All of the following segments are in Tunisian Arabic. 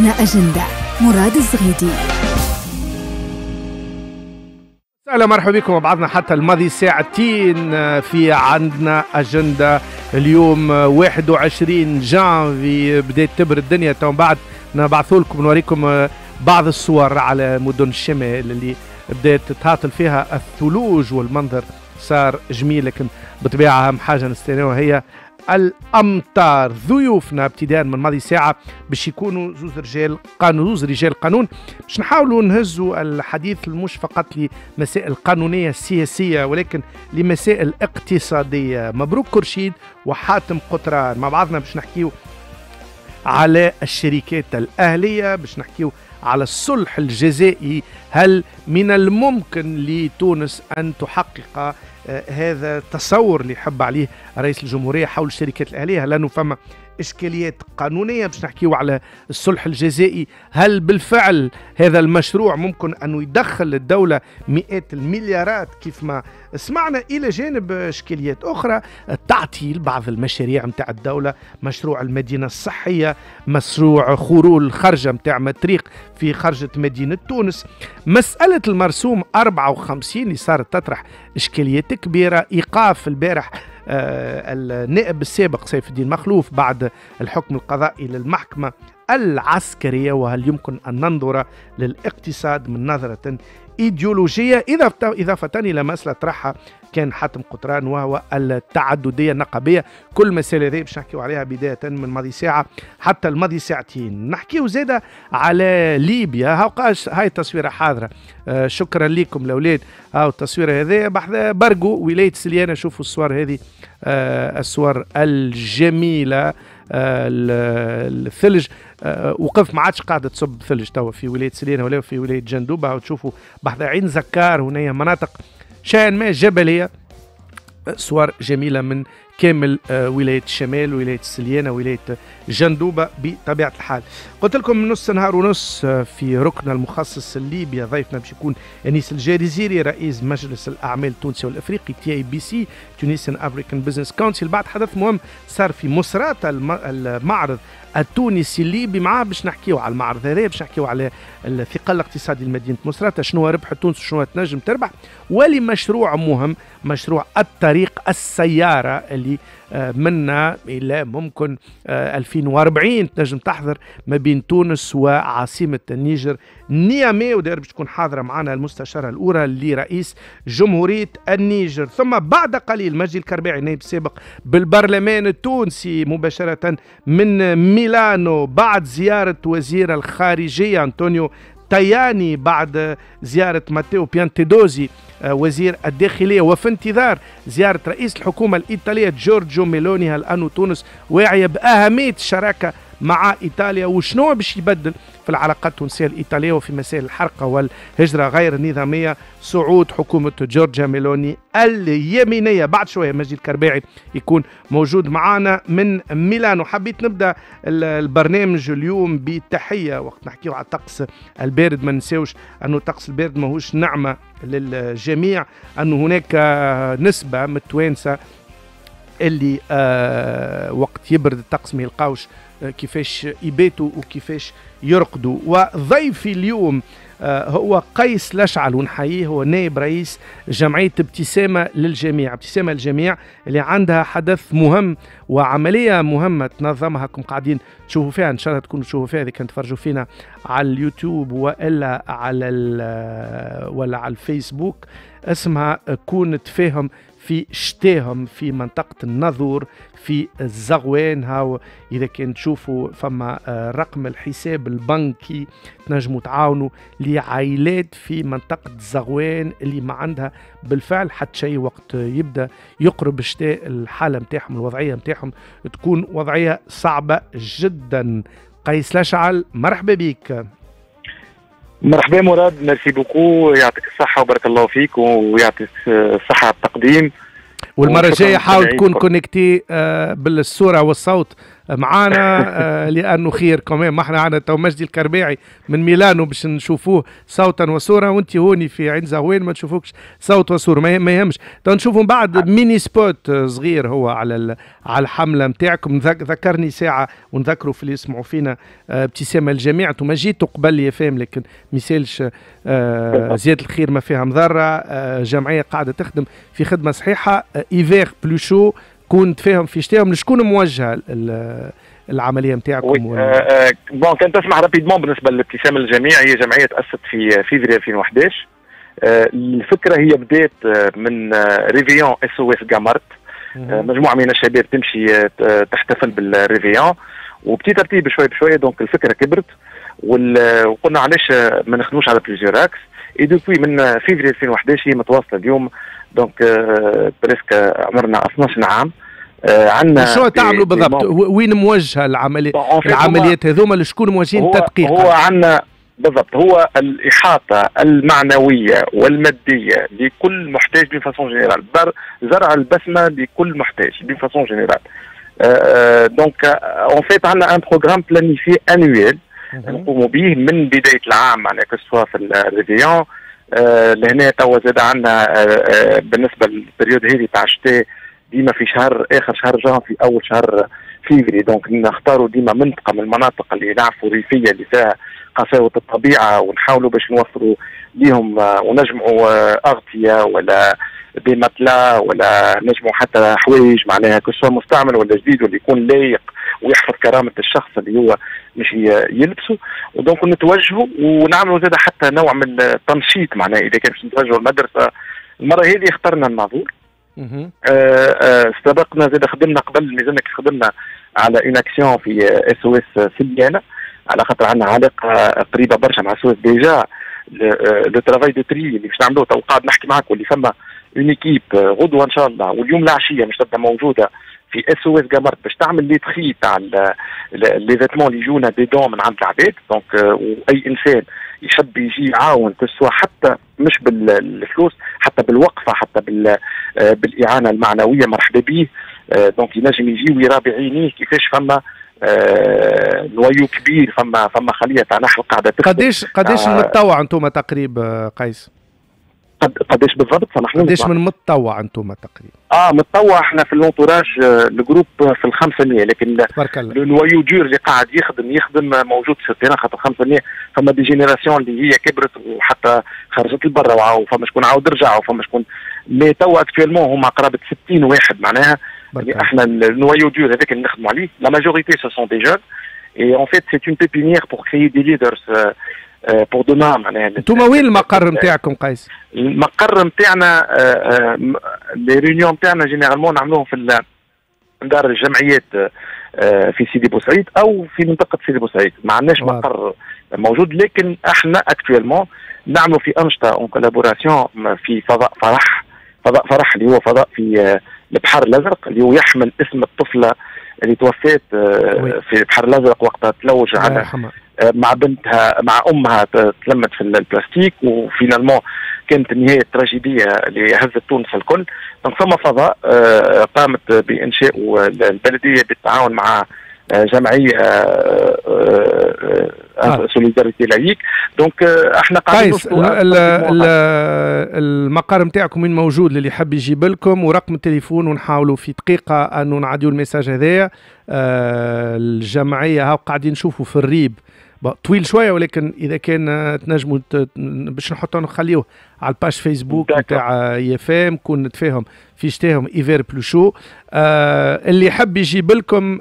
عندنا أجندة. مراد الزغيدي. أهلا مرحبا بكم بعضنا حتى الماضي ساعتين في عندنا أجندة. اليوم 21 جانفي بدأت تبرد الدنيا، تو بعد نبعثوا لكم نوريكم بعض الصور على مدن الشمال اللي بدأت تهاطل فيها الثلوج والمنظر صار جميل، لكن بطبيعة أهم حاجة نستناوها هي الأمطار. ضيوفنا ابتداء من ماضي ساعة باش يكونوا زوز رجال قانون، زوز رجال قانون، باش نحاولوا نهزوا الحديث مش فقط لمسائل قانونية سياسية ولكن لمسائل اقتصادية. مبروك كرشيد وحاتم قطران مع بعضنا باش نحكيو على الشركات الأهلية، باش نحكيو على الصلح الجزائي، هل من الممكن لتونس أن تحقق هذا التصور اللي يحب عليه رئيس الجمهورية حول الشركات الأهلية؟ لأنه فما إشكاليات قانونية. باش نحكيو على الصلح الجزائي، هل بالفعل هذا المشروع ممكن أنه يدخل الدولة مئات المليارات كيف ما سمعنا، إلى جانب إشكاليات أخرى، تعطيل بعض المشاريع متاع الدولة، مشروع المدينة الصحية، مشروع خرول الخرجة متاع مطريق في خرجة مدينة تونس، مسألة المرسوم 54 اللي صارت تطرح إشكاليات كبيرة، إيقاف البارح النائب السابق سيف الدين مخلوف بعد الحكم القضائي للمحكمة العسكرية، وهل يمكن أن ننظر للاقتصاد من نظرة إيديولوجية؟ إضافة إلى مسألة طرحها كان حاتم قطران وهو التعددية النقابية. كل مسألة هذه باش نحكيو عليها بداية من ماضي ساعة حتى الماضي ساعتين. نحكيو زادة على ليبيا، هاي التصويرة حاضرة، شكرا لكم الأولاد. هاو التصويرة هذه بحذا برقو ولاية سليانة، شوفوا الصور هذه، الصور الجميلة، الثلج وقف، ما عادش قاعدة تصب ثلج توا في ولاية سليانة ولا في ولاية جندوبة. وتشوفوا بحذا عين زكار هنا مناطق شيئا ما جبلية، صور جميلة من كامل ولاية الشمال، ولاية السليانة، ولاية جندوبة بطبيعة الحال. قلت لكم نص نهار ونص في ركن المخصص لليبيا ضيفنا باش يكون أنيس الجزيري رئيس مجلس الأعمال التونسي والأفريقي TABC Tunisian African Business Council. بعد حدث مهم صار في مصراتة المعرض التونسي الليبي، معاه باش نحكيو على المعرض هذا، باش نحكيو على الثقل الاقتصادي لمدينة مصراتة، شنو ربح تونس وشنو تنجم تربح، ولمشروع مهم، مشروع الطريق السيارة اللي منا إلى ممكن 2040 تنجم تحضر ما بين تونس وعاصمة النيجر نيامي، وداير باش تكون حاضرة معنا المستشارة الأولى لرئيس جمهورية النيجر. ثم بعد قليل مجدي الكرباعي نائب سابق بالبرلمان التونسي مباشرة من ميلانو بعد زيارة وزير الخارجية أنطونيو تاياني، بعد زيارة ماتيو بيانتيدوزي وزير الداخلية، وفي انتظار زيارة رئيس الحكومة الإيطالية جورجيو ميلوني. هل أن تونس واعية بأهمية الشراكة مع إيطاليا وشنو باش يبدل في العلاقات التونسية الإيطالية وفي مسائل الحرقة والهجرة غير النظامية صعود حكومة جورجيا ميلوني اليمينية؟ بعد شوية مجدي الكرباعي يكون موجود معنا من ميلانو. حبيت نبدأ البرنامج اليوم بتحية وقت نحكيو على الطقس البارد، ما ننساوش أنه الطقس البارد ماهوش نعمة للجميع، أنه هناك نسبة من التوانسة اللي وقت يبرد الطقس ما يلقاوش كيفاش يباتوا وكيفاش يرقدوا. وضيفي اليوم هو قيس لشعل ونحييه، هو نائب رئيس جمعية ابتسامة للجميع، ابتسامة للجميع اللي عندها حدث مهم وعملية مهمة تنظمها، كم قاعدين تشوفوا فيها، إن شاء الله تكونوا تشوفوا فيها إذا كان تفرجوا فينا على اليوتيوب وإلا على ولا على الفيسبوك، اسمها كون تفاهم في شتاهم في منطقة الناظور في الزغوان. هاو إذا كان تشوفوا فما رقم الحساب البنكي تنجموا تعاونوا لعائلات في منطقة الزغوان اللي ما عندها بالفعل حتى شيء، وقت يبدأ يقرب الشتاء الحالة متاعهم الوضعية متاعهم تكون وضعية صعبة جدا. قيس لشعل مرحبا بك. مرحبا مراد، merci beaucoup، يعطيك الصحة وبارك الله فيك ويعطيك الصحة على التقديم. والمرة الجاية حاول تكون connecté بالصورة والصوت معانا، لانه خير كمان ما احنا عندنا تو مجدي الكرباعي من ميلانو باش نشوفوه صوتا وصوره، وانت هوني في عين زغوان ما تشوفوكش صوت وصوره، ما يهمش. تو نشوفوا من بعد mini spot صغير هو على الحملة نتاعكم. ذكرني ساعة ونذكروا في اللي يسمعوا فينا ابتسامة الجميع، انتم جيتوا قبل IFM لكن ما يسالش، زيادة الخير ما فيها مضرة. جمعية قاعدة تخدم في خدمة صحيحه، hiver plus chaud، كون تفاهم في شتاهم. لشكون موجهة العملية نتاعكم؟ bon كان تسمح rapidement بالنسبة للابتسامه للجميع، هي جمعية تاسست في فيفري 2011. الفكرة هي بدات من réveillon SOS قمرت، مجموعة من الشباب تمشي تحتفل بال réveillon و petit à petit بشوي بشوي، donc الفكرة كبرت وقلنا علاش ما نخدموش على plusieurs axes. et depuis من فيفري 2011 هي متواصلة اليوم، donc presque عمرنا 12 عام. عندنا شو تعملوا بالضبط؟ وين موجهة العملية؟ العمليات هذوما لشكون موجهين تدقيقا؟ هو عندنا بالضبط هو الإحاطة المعنوية والمادية لكل محتاج d'une façon générale، زرع البسمة لكل محتاج d'une façon générale. donc en fait عندنا un programme planifié annuel نقوموا به من بداية العام، معناها que ce soit في ال réveillon. لهنا توا زاد عندنا بالنسبة لل période هذه تاع الشتاء ديما في شهر اخر شهر جانفي اول شهر فيفري، donc نختاروا ديما منطقة من المناطق اللي نعرفوا ريفيه اللي فيها قساوه الطبيعة، ونحاولوا باش نوفروا ليهم ونجمعوا اغطيه ولا des matelas ولا نجمعوا حتى حوايج، معناها que ce soit مستعمل ولا جديد واللي يكون لايق ويحفظ كرامة الشخص اللي هو مش يلبسه. و donc نتوجهوا ونعملوا زاد حتى نوع من التنشيط، معناها اذا كان باش نتوجهوا المدرسة. المرة هذه اخترنا الناظور. سبقنا زاد خدمنا قبل ميزانك، خدمنا على une action في SOS سليانه، على خاطر عندنا علاقة قريبه برشا مع SOS. déjà le travail de tri اللي باش نعملوه تو قاعد نحكي معاك، واللي فما une équipe غدوه ان شاء الله واليوم العشية مش تبدا موجودة في SOS قمرت باش تعمل les tris تاع les vêtements اللي يجونا des dons من عند العباد. donc واي انسان يحب يجي يعاون، que ce soit حتى مش بالفلوس، حتى بالوقفه، حتى بالاعانه المعنوية، مرحبا به. donc ينجم يجي ويرى بعينيه كيفاش فما noyau كبير، فما خليه تاع نحل قاعدة تخدم. قداش متطوع انتم تقريبا قيس؟ قداش بالضبط؟ سامحني، قداش من متطوع انتم تقريبا؟ متطوع احنا في l'entourage ال groupe في 500، لكن le noyau dur اللي قاعد يخدم موجود في ال terrain، خاطر 500 فما des générations اللي هي كبرت وحتى خرجت لبرا، وفما شكون عاود رجع، وفما شكون، mais توا actuellement هما قرابة 60 واحد معناها. احنا ال noyau dur هذاك اللي نخدموا عليه، la majorité ce sont des jeunes et en fait c'est une pépinière pour créer des leaders pour demain. معناها انتم وين المقر نتاعكم قيس؟ المقر نتاعنا les réunions نتاعنا généralement نعملوهم في دار الجمعيات في سيدي بوسعيد او في منطقة سيدي بوسعيد، ما عندناش مقر موجود، لكن احنا actuellement نعملوا في انشطة en collaboration في فضاء فرح، فضاء فرح اللي هو فضاء في البحر الازرق، اللي هو يحمل اسم الطفلة اللي توفات في البحر الازرق وقتها تلوج على مع بنتها مع امها، تلمت في البلاستيك، و finalement كانت النهاية التراجيديه اللي هزت تونس الكل. donc ثم فضاء قامت بانشاء البلدية بالتعاون مع جمعية Solidarité Laïque. donc احنا قاعدين المقر نتاعكم وين موجود للي يحب يجيب لكم، ورقم التليفون، ونحاولوا في دقيقة انه نعديو ال message هذايا. الجمعية هاو قاعدين نشوفوا في الريب طويل شوية، ولكن اذا كان تنجموا باش نحطوا نخليوه على ال page Facebook نتاع IFM، كون نتفاهم في شتاهم hiver plus chaud. اللي يحب يجيب لكم،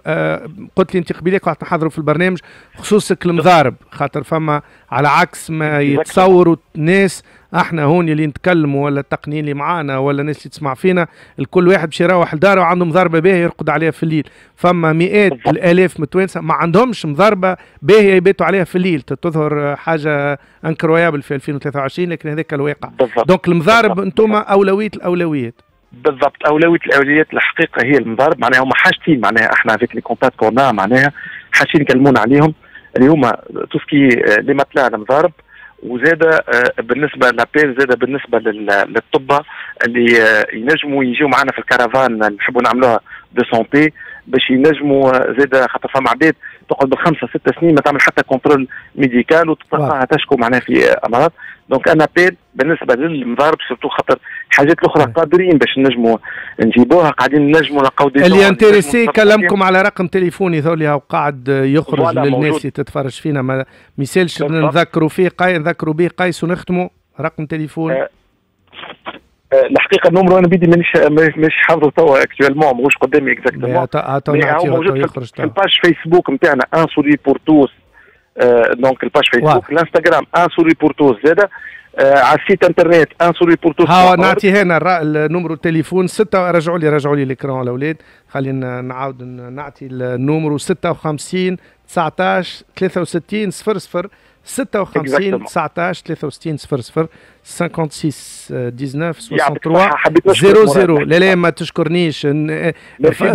قلت لي انت قبيلك وقت نحضروا في البرنامج خصوصك المضارب، خاطر فما على عكس ما يتصوروا الناس، احنا هون اللي نتكلموا ولا التقنيين اللي معانا ولا الناس اللي تسمع فينا، الكل واحد باش يروح لداره وعنده مضاربة باهيه يرقد عليها في الليل. فما مئات الالاف من التوانسة ما عندهمش مضاربة باهيه يباتوا عليها في الليل، تظهر حاجة incroyable في 2023، لكن هذاك الواقع. donc المضارب انتم اولوية الاولويات. بالضبط، اولوية الاولويات الحقيقة هي المضارب. معناها هما حاجتين، معناها احنا avec les contacts qu'on a معناها حاجتين يكلمونا عليهم، اللي هما tout ce qui est les matelas المضارب، وزاد بالنسبة l'appel، زاد بالنسبة للطبه اللي ينجموا يجيو معنا في الكرفان اللي نحبوا نعملوها de santé. باش ينجموا زاد، خاطر فما عباد تقعد بالخمسة ست سنين ما تعمل حتى contrôle médical وتلقاها تشكو معناها في امراض. donc un appel بالنسبة للمضارب surtout، خاطر الحاجات الاخرى قادرين باش نجموا نجيبوها، قاعدين نجموا نلقاو des اللي intéressé كلمكم على رقم تليفوني ذولي قاعد يخرج للناس اللي تتفرج فينا، ما يسالش نذكروا فيه نذكروا به قيس ونختموا رقم تليفون. الحقيقة ال numéro انا بيدي مانيش حافظه توا actuellement، ماهوش قدامي exactement. هو موجود في ال page فيسبوك نتاعنا un sourire pour tous، donc ال page فيسبوك، الانستغرام un sourire pour tous زاده، على ال site internet un sourire pour tous. ها نعطي هنا ال numéro التليفون 6، رجعوا لي l'écran الاولاد، خلينا نعاود نعطي ال numéro 56 19 63 00، 56 19 63 00، 56 19 63 00. لا لا ما تشكرنيش،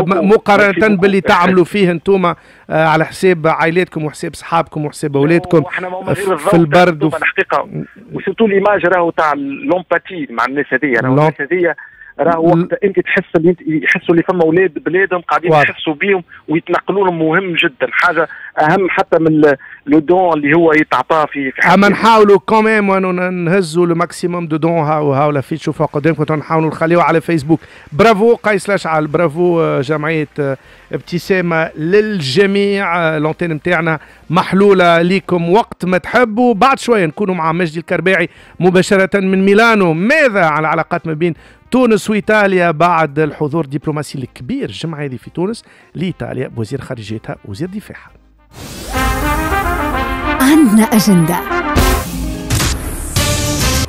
مقارنة باللي تعملوا فيه انتم على حساب عائلاتكم وحساب صحابكم وحساب اولادكم في البرد. الحقيقة و surtout l'image راهو تاع l'empathie مع الناس هذيا، راهو الناس هذيا راهو وقت انت تحس اللي يحسوا اللي فما اولاد بلادهم قاعدين يحسوا بيهم ويتنقلوا لهم، مهم جدا، حاجة اهم حتى من le don اللي هو يتعطى في اما نحاولوا quand même نهزوا le maximum de dons. هاو هاو l'affiche تشوفوا قدامكم، نحاولوا نخليوه على فيسبوك. برافو قيس لاشعل، برافو جمعية ابتسامة للجميع. l'antenne نتاعنا محلولة ليكم وقت ما تحبوا. بعد شوية نكونوا مع مجدي الكرباعي مباشرة من ميلانو. ماذا على العلاقات ما بين تونس وإيطاليا بعد الحضور الدبلوماسي الكبير الجمعة هذه في تونس لإيطاليا بوزير خارجيتها وزير دفاعها؟ عندنا أجندة،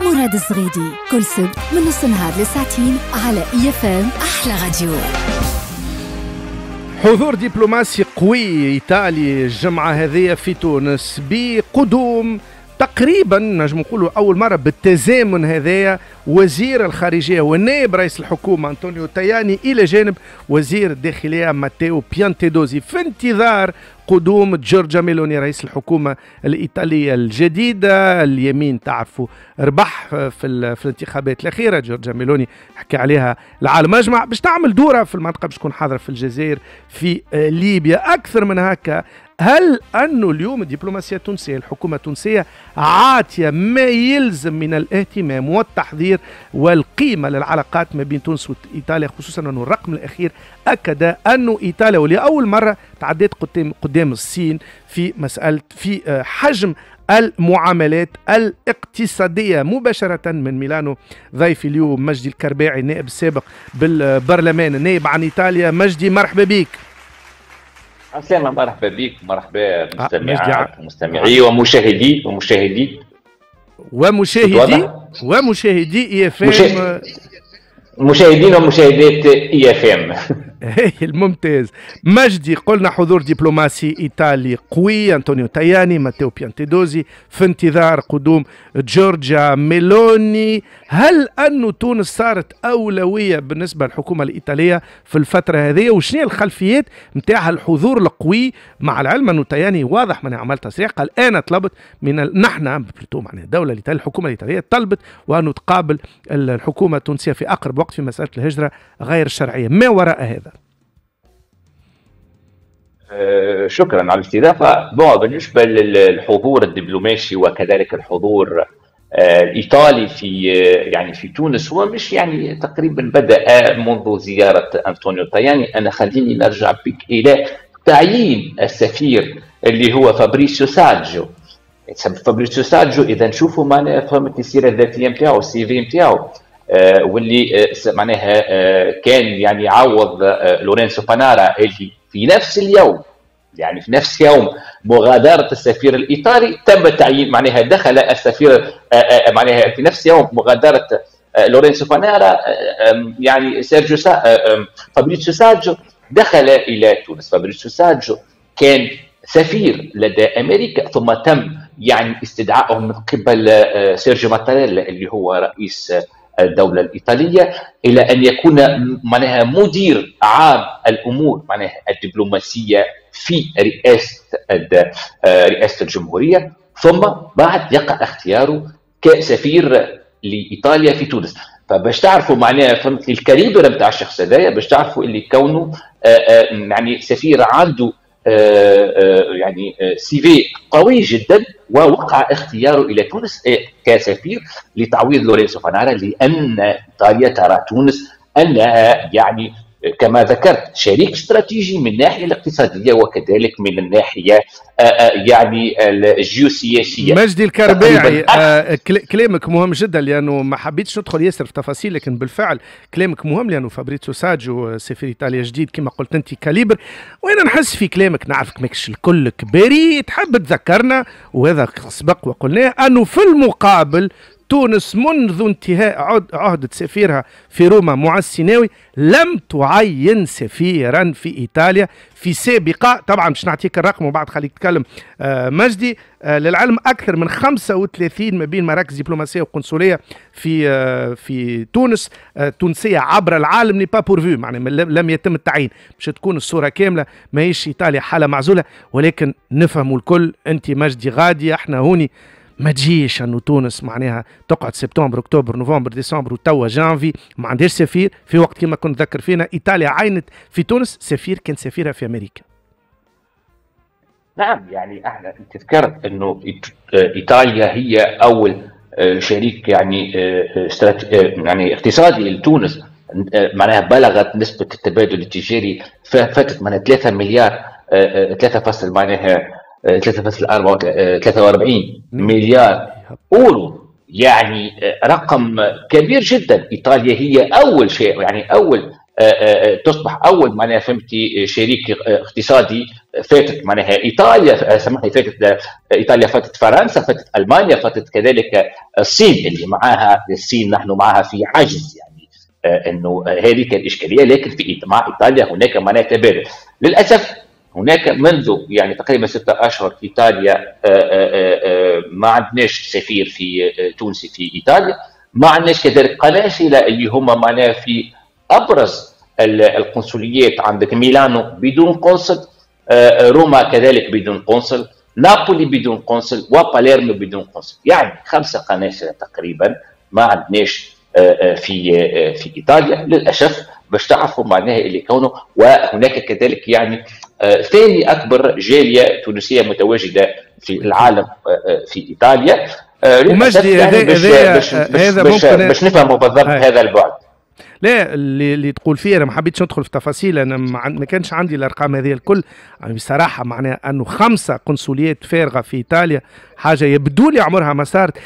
مراد الزغيدي، كل سبت من نص نهار لساعتين على IFM أحلى راديو. حضور دبلوماسي قوي إيطالي الجمعة هذه في تونس، بقدوم تقريبا نجم نقولوا اول مرة بالتزامن هذايا وزير الخارجية والنائب رئيس الحكومة انطونيو تاياني الى جانب وزير الداخلية ماتيو بيانتيدوزي، في انتظار قدوم جورجا ميلوني رئيس الحكومة الايطالية الجديده. اليمين تعرفوا ربح في الانتخابات الاخيره، جورجا ميلوني حكى عليها العالم اجمع، باش تعمل دوره في المنطقه، باش تكون حاضره في الجزائر، في ليبيا. اكثر من هكا، هل أنه اليوم الدبلوماسية التونسية، الحكومة التونسية عاطية ما يلزم من الاهتمام والتحضير والقيمة للعلاقات ما بين تونس وإيطاليا، خصوصا أنه الرقم الأخير أكد أنه إيطاليا ولأول مرة تعدت قدام الصين في مسألة في حجم المعاملات الاقتصادية؟ مباشرة من ميلانو ضيفي اليوم مجدي الكرباعي، النائب السابق بالبرلمان، النائب عن إيطاليا. مجدي مرحبا بك. عسلامة، مرحبا بك، مرحبا مستمعات ومستمعي ومشاهدي ومشاهدي ومشاهدي ومشاهدي IFM. مشاهدين ومشاهدات IFM. الممتاز. مجدي، قلنا حضور دبلوماسي ايطالي قوي، انطونيو تاياني، ماتيو بيانتيدوزي، في انتظار قدوم جورجيا ميلوني. هل أن تونس صارت أولوية بالنسبة للحكومة الإيطالية في الفترة هذه، وشنو الخلفيات نتاع الحضور القوي، مع العلم أنه تاياني واضح من عمل تصريح قال أنا طلبت من نحن plutôt معناها الدولة الإيطالية، الحكومة الإيطالية طلبت وأنه تقابل الحكومة التونسية في أقرب وقت في مسألة الهجرة غير الشرعية؟ ما وراء هذا؟ شكرا على الاستضافة. bon، بالنسبة للحضور الدبلوماسي وكذلك الحضور الإيطالي في يعني في تونس، هو مش يعني تقريبا بدأ منذ زيارة أنطونيو تاياني. أنا خليني نرجع بك إلى تعيين السفير اللي هو فابريسيو ساجو. فابريسيو ساجو إذا نشوفوا معناها فهمت السيرة الذاتية نتاعو، ال CV نتاعو، واللي معناها كان يعني عوض لورينسو بانارا اللي في نفس اليوم، يعني في نفس يوم مغادرة السفير الإيطالي تم تعيين، معناها دخل السفير معناها في نفس يوم مغادرة لورينسو بانارا، يعني سيرجيو فابريتسيو ساجو دخل إلى تونس. فابريتسيو ساجو كان سفير لدى أمريكا، ثم تم يعني استدعائه من قبل سيرجيو ماتاريلا اللي هو رئيس الدولة الإيطالية إلى أن يكون معناها مدير عام الأمور معناها الدبلوماسية في رئاسة الجمهورية، ثم بعد يقع اختياره كسفير لإيطاليا في تونس. فباش تعرفوا معناها فهمت ال calibre نتاع الشخص هذايا، باش تعرفوا اللي كونه يعني سفير عنده يعني CV قوي جدا، ووقع اختياره الى تونس كسفير لتعويض لورينسو فانارا، لان ايطاليا ترى تونس انها يعني كما ذكرت شريك استراتيجي من الناحية الاقتصادية وكذلك من الناحية يعني الجيوسياسية. مجدي الكرباعي، كلامك مهم جدا، لانه ما حبيتش ندخل ياسر في تفاصيل، لكن بالفعل كلامك مهم، لانه فابريتسو ساجو سفير ايطاليا جديد كما قلت انت calibre، وانا نحس في كلامك نعرفك ماكش الكل كباري، تحب تذكرنا وهذا سبق وقلناه انه في المقابل تونس منذ انتهاء عهدة سفيرها في روما معز السيناوي لم تعين سفيرا في إيطاليا في سابقة. طبعا باش نعطيك الرقم وبعد خليك تتكلم مجدي. للعلم أكثر من 35 ما بين مراكز دبلوماسية وقنصلية في تونس تونسية عبر العالم n'est pas pourvu، معناها لم يتم التعيين. باش تكون الصورة كاملة، ماهيش إيطاليا حالة معزولة، ولكن نفهموا الكل، أنت مجدي غادي احنا هوني، ما تجيش انه تونس معناها تقعد سبتمبر اكتوبر نوفمبر ديسمبر وتوا جانفي ما عندهاش سفير، في وقت كما كنت ذكر فينا ايطاليا عينت في تونس سفير كان سفيرها في امريكا. نعم، يعني احنا انت ذكرت انه ايطاليا هي اول شريك يعني يعني اقتصادي لتونس، معناها بلغت نسبه التبادل التجاري فاتت معناها 3 مليار 3 معناها 3.43 مليار اورو، يعني رقم كبير جدا. ايطاليا هي اول شيء، يعني اول تصبح اول معناها فهمتي شريك اقتصادي، فاتت معناها ايطاليا، سامحني، فاتت ايطاليا، فاتت فرنسا، فاتت المانيا، فاتت كذلك الصين اللي معاها، الصين نحن معها في عجز، يعني انه هذه الاشكالية، لكن في مع ايطاليا هناك معناها تبادل. للاسف هناك منذ يعني تقريبا 6 أشهر إيطاليا ما عندناش سفير في تونسي في إيطاليا، ما عندناش كذلك قناصلة اللي هما معناها في أبرز القنصليات، عندك ميلانو بدون قنصل، روما كذلك بدون قنصل، نابولي بدون قنصل، وباليرمو بدون قنصل، يعني 5 قناصلة تقريبا ما عندناش في إيطاليا للأسف. باش تعرفوا معناها اللي كونه. وهناك كذلك يعني ثاني اكبر جالية تونسية متواجدة في العالم في ايطاليا. ومجدي يعني هذا باش نفهموا بالضبط هذا البعد. لا اللي تقول فيه انا ما حبيتش ندخل في تفاصيل، انا ما كانش عندي الارقام هذه الكل، يعني بصراحة معناها انه 5 قنصليات فارغة في ايطاليا حاجة يبدو لي عمرها ما صارت.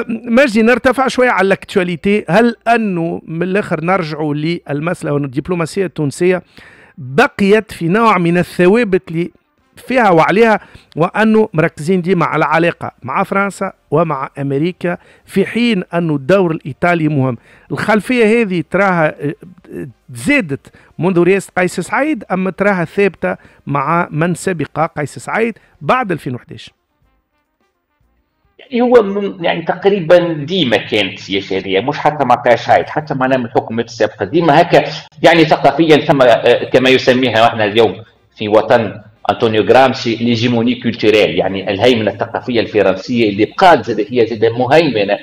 مجدي نرتفع شوية على l'actualité، هل انه من الاخر نرجعوا للمسالة وان الدبلوماسية التونسية بقيت في نوع من الثوابت اللي فيها وعليها، وانه مركزين ديما على علاقة مع فرنسا ومع امريكا، في حين انه الدور الايطالي مهم. الخلفية هذه تراها زادت منذ رئاسة قيس سعيد اما تراها ثابتة مع من سبق قيس سعيد بعد 2011؟ يعني هو يعني تقريبا ديما كانت السياسة هذه، مش حتى مع قيس سعيد، حتى معنا من الحكومات السابقة ديما هكا، يعني ثقافيا ثم كما يسميها احنا اليوم في وطن انطونيو غرامشي l'hégémonie culturelle، يعني الهيمنة الثقافية الفرنسية اللي بقات زاد هي زاد مهيمنة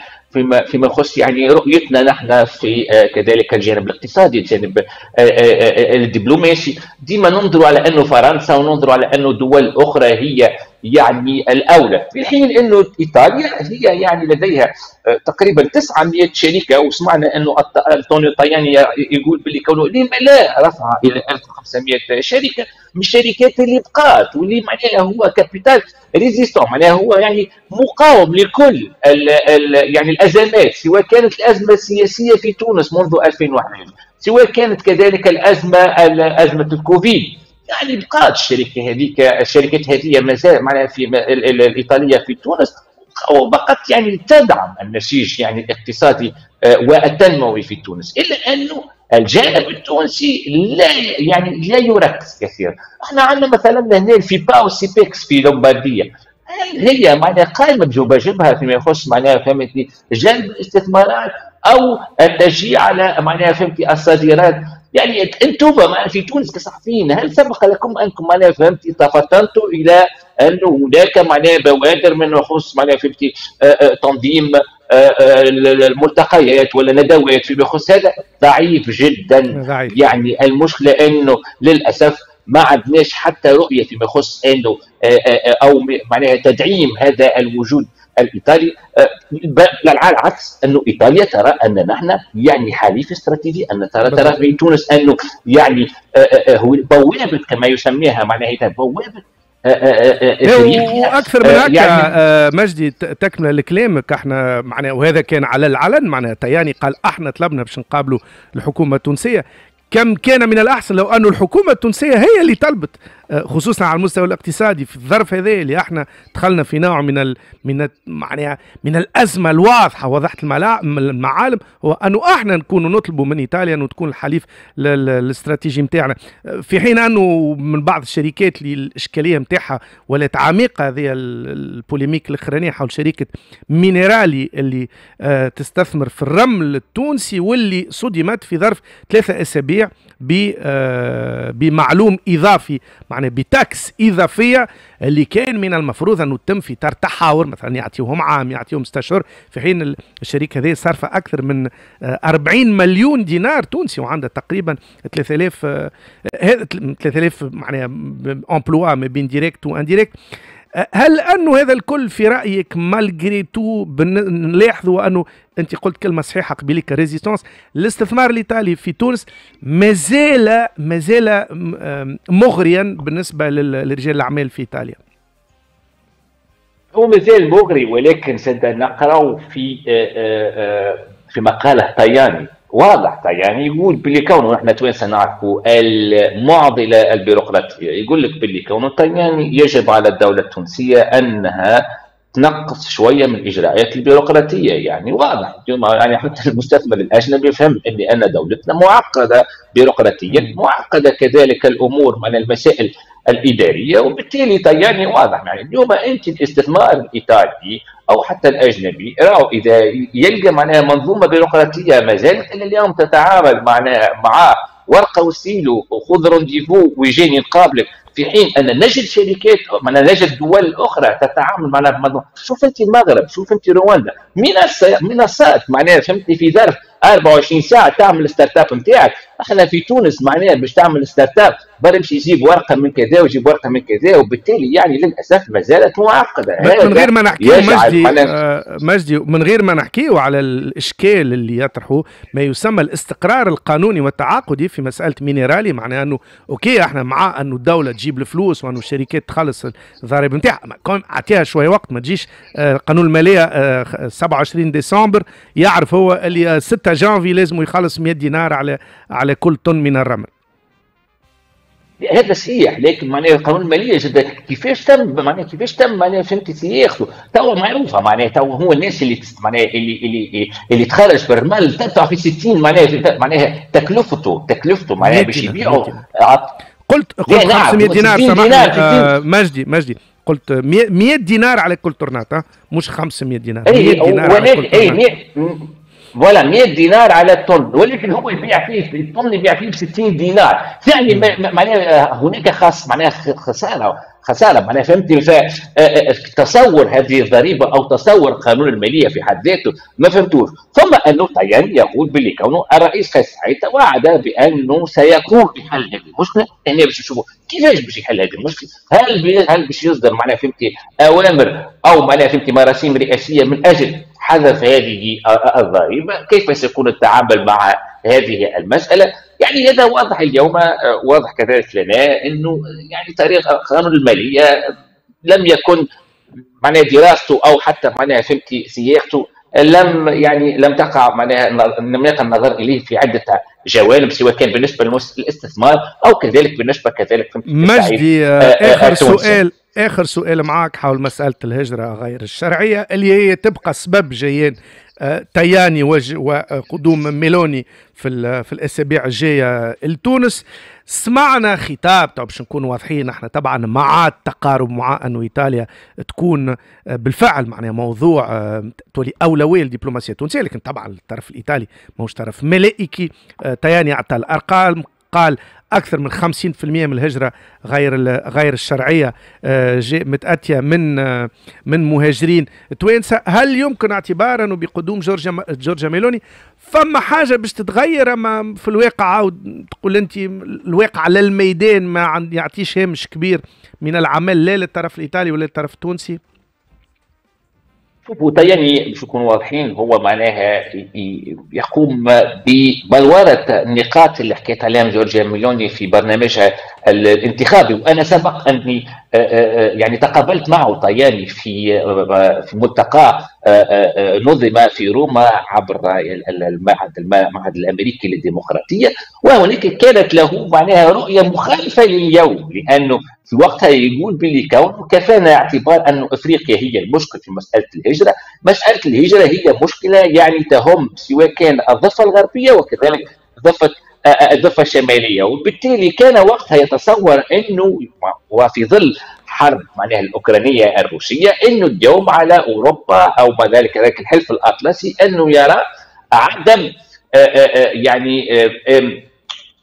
فيما يخص يعني رؤيتنا نحن في كذلك الجانب الاقتصادي، الجانب الدبلوماسي. ديما ننظر على انه فرنسا وننظر على انه دول اخرى هي يعني الاولى، في حين انه ايطاليا هي يعني لديها تقريبا 900 شركة، وسمعنا انه انطونيو طاياني يقول باللي كونه لما لا رفع الى 1500 شركة من الشركات اللي بقات واللي معناها هو capital résistant، معناها هو يعني مقاوم لكل ال ال يعني الازمات، سواء كانت الازمة السياسية في تونس منذ 2011، سواء كانت كذلك الازمة ازمة الكوفيد، يعني بقات الشركة هذيك، الشركات هذه مازال معناها في الايطالية في تونس، وبقت يعني تدعم النسيج يعني الاقتصادي والتنموي في تونس، الا انه الجانب التونسي لا يعني لا يركز كثيرا. احنا عندنا مثلا هنا الفيبا والسيبكس في لومبارديا، هل هي معناها قائمة بواجبها فيما يخص معناها فهمتني جلب الاستثمارات او التشجيع على معناها فهمتي الصادرات؟ يعني انتم في تونس كصحفيين هل سبق لكم انكم معناها فهمتي تفطنتوا الى انه هناك معناها بوادر من يخص معناها فهمتي تنظيم الملتقيات ولا ندوات فيما يخص هذا ضعيف جدا. ضعيف. يعني المشكلة انه للاسف ما عندناش حتى رؤية فيما يخص انه او معناها تدعيم هذا الوجود الايطالي، بل على العكس انه ايطاليا ترى ان نحن يعني حليف استراتيجي، ان ترى في تونس انه يعني هو بوابه كما يسميها، معناها بوابه واكثر من هكا يعني مجدي تكمله لكلامك، احنا معناها وهذا كان على العلن، معناها تياني قال احنا طلبنا باش نقابلوا الحكومة التونسية. كم كان من الأحسن لو أن الحكومة التونسية هي اللي طلبت، خصوصا على المستوى الاقتصادي في الظرف هذا اللي احنا دخلنا في نوع من معناها من الأزمة الواضحة، وضحت المعالم، هو أنه احنا نكون نطلبوا من إيطاليا أنه تكون الحليف الاستراتيجي نتاعنا، في حين أنه من بعض الشركات اللي الإشكالية نتاعها ولات عميقة، هذه ال polémique الأخرانية حول شركة مينرالي اللي تستثمر في الرمل التونسي واللي صدمت في ظرف 3 أسابيع بمعلوم إضافي، معناه ب taxe إضافية اللي كان من المفروض أنه تتم في إطار تحاور، مثلا يعطيهم عام، يعطيهم 6 أشهر، في حين الشركة هذه صارفة أكثر من 40 مليون دينار تونسي وعندها تقريبا 3000 معناها emplois ما بين direct و indirect. هل أنه هذا الكل في رأيك malgré tout نلاحظوا أنه أنت قلت كلمة صحيحة قبيلك résistance، الاستثمار الإيطالي في تونس مازال مغريا بالنسبة لرجال الأعمال في إيطاليا؟ هو مازال مغري، ولكن نقرأ في مقالة تاياني، واضح تاياني يقول باللي كونه احنا توانسة نعرفوا المعضلة البيروقراطية، يقول لك باللي كونه تاياني يجب على الدولة التونسية انها تنقص شوية من الاجراءات البيروقراطية. يعني واضح يعني حتى المستثمر الاجنبي فهم ان دولتنا معقدة بيروقراطيا، معقدة كذلك الامور من المسائل الادارية، وبالتالي تاياني واضح يعني اليوم انت الاستثمار الايطالي او حتى الاجنبي راهو اذا يلقى معناها منظومة بيروقراطيه ما زالت الى اليوم تتعامل معناها مع ورقة وسيلو وخذ rendez-vous ويجيني نقابلك، في حين ان نجد شركات معناها نجد دول اخرى تتعامل معناها بمنظومة. شوف انت المغرب، شوف انت رواندا، منصات معناها فهمتني في ظرف 24 ساعة تعمل start-up نتاعك. احنا في تونس معناها باش تعمل start-up برا يمشي يجيب ورقة من كذا ويجيب ورقة من كذا، وبالتالي يعني للاسف ما زالت معقدة. من غير ما نحكيو مجدي، مجدي من غير ما نحكيو على الاشكال اللي يطرحه ما يسمى الاستقرار القانوني والتعاقدي في مسالة مينرالي، معناها انه OK احنا مع انه الدولة تجيب الفلوس وانه الشركات تخلص الضرائب نتاعها، اعطيها شوية وقت، ما تجيش قانون المالية 27 ديسمبر يعرف هو اللي 6 جانفي لازم يخلص 100 دينار على كل طن من الرمل. هذا صحيح، لكن معناها قانون المالية جدا كيفاش تم، معناها كيفاش تم معناها فهمتي سياقته توا معروفة، معناها توا هو الناس اللي معناها اللي تخرج بالرمل تدفع في 60 معناها تكلفته معناها باش يبيعوا. قلت 500 دينار، سامحني مجدي قلت 100 دينار على كل طرناطه، مش 500 دينار، 100 دينار على كل طرناطه. voilà 100 دينار على الطن، ولكن هو يبيع فيه الطن يبيع فيه ب 60 دينار، يعني معناها هناك خاص معناها خسارة معناها فهمتني. تصور هذه الضريبة او تصور قانون المالية في حد ذاته ما فهمتوش. ثم انه تاياني يقول باللي كونه الرئيس قيس سعيد توعد بانه سيقوم بحل هذه المشكلة، هنا باش نشوفوا كيفاش باش يحل هذه المشكلة، هل باش يصدر معناها فهمتي اوامر او معناها فهمتي مراسيم رئاسيه من اجل حذف هذه الضريبة، كيف سيكون التعامل مع هذه المسالة؟ يعني هذا واضح اليوم، واضح كذلك لنا انه يعني طريقه قانون المالية لم يكن معناها دراسته او حتى معناها فهمتي سياقته لم تقع معناها لم يقع النظر اليه في عده جوانب، سواء كان بالنسبة للاستثمار او كذلك بالنسبة كذلك مجدي. اخر سؤال معاك حول مسالة الهجرة غير الشرعية اللي هي تبقى سبب جيان تاياني وقدوم ميلوني في الاسابيع الجاية لتونس. سمعنا خطاب، طبعا باش نكون واضحين احنا طبعا مع التقارب، مع انه ايطاليا تكون بالفعل معناها موضوع تولي اولوية للدبلوماسيه التونسية، لكن طبعا الطرف الايطالي ماهوش طرف ملائكي. تاياني اعطى الارقام، قال اكثر من 50% من الهجرة غير الشرعية متاتيه من مهاجرين توانسة. هل يمكن اعتبار انه بقدوم جورجيا ميلوني فما حاجة باش تتغير؟ اما في الواقع تقول انت الواقع على الميدان ما يعطيش هامش كبير من العمل لا للطرف الايطالي ولا للطرف التونسي. شوفوا يعني باش نكونوا واضحين، هو معناها يقوم ببلورة النقاط اللي حكيت عليها جورجيا ميلوني في برنامجها الانتخابي، وانا سبق اني يعني تقابلت معه طياني في ملتقى نظم في روما عبر المعهد الامريكي للديمقراطية، وهناك كانت له معناها رؤية مخالفة لليوم، لانه في وقتها يقول باللي كونه كفانا اعتبار أن افريقيا هي المشكل في مسالة الهجرة، مسالة الهجرة هي مشكلة يعني تهم سواء كان الضفة الغربية وكذلك الضفة الشمالية، وبالتالي كان وقتها يتصور انه وفي ظل حرب معناها الاوكرانية الروسية انه اليوم على اوروبا او ما ذلك ذلك الحلف الاطلسي انه يرى عدم يعني